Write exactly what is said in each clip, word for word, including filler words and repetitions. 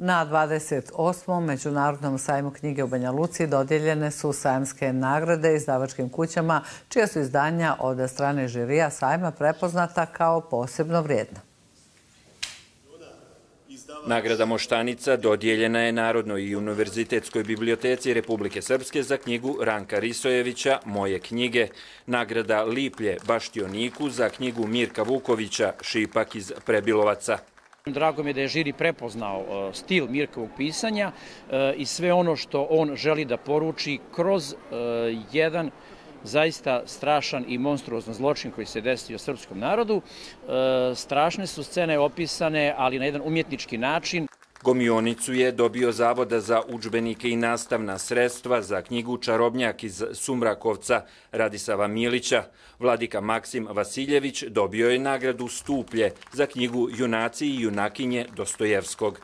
Na dvadeset osmom Međunarodnom sajmu knjige u Banja Luci dodijeljene su sajamske nagrade izdavačkim kućama, čija su izdanja od strane žirija sajma prepoznata kao posebno vrijedna. Nagrada Moštanica dodijeljena je Narodnoj i univerzitetskoj biblioteci Republike Srpske za knjigu Ranka Risojevića Moje knjige. Nagrada Liplje Baštioniku za knjigu Mirka Vukovića Šipak iz Prebilovaca. Drago mi je da je žiri prepoznao stil Mirkovog pisanja i sve ono što on želi da poruči kroz jedan zaista strašan i monstruozan zločin koji se desio srpskom narodu. Strašne su scene opisane, ali na jedan umjetnički način. Gomionicu je dobio Zavoda za udžbenike i nastavna sredstva za knjigu Čarobnjak iz Sumrakovca Radisava Milića. Vladika Maksim Vasiljević dobio je nagradu Stuplje za knjigu Junaci i junakinje Dostojevskog.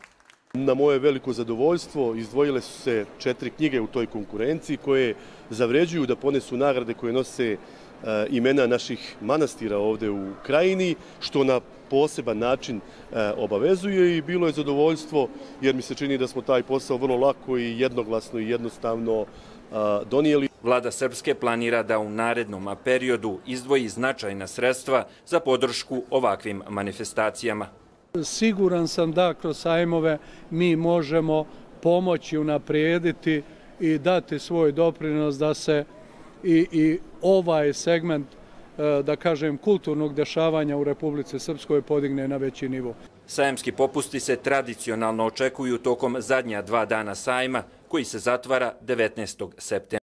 Na moje veliko zadovoljstvo izdvojile su se četiri knjige u toj konkurenciji koje zavređuju da ponesu nagrade koje nose imena naših manastira ovdje u krajini, što na poseban način obavezuje i bilo je zadovoljstvo jer mi se čini da smo taj posao vrlo lako i jednoglasno i jednostavno donijeli. Vlada Srpske planira da u narednom periodu izdvoji značajna sredstva za podršku ovakvim manifestacijama. Siguran sam da kroz sajmove mi možemo pomoći, unaprijediti i dati svoj doprinos da se i, i ovaj segment, da kažem, kulturnog dešavanja u Republici Srpskoj podigne na veći nivo. Sajamski popusti se tradicionalno očekuju tokom zadnja dva dana sajma, koji se zatvara devetnaestog septembra.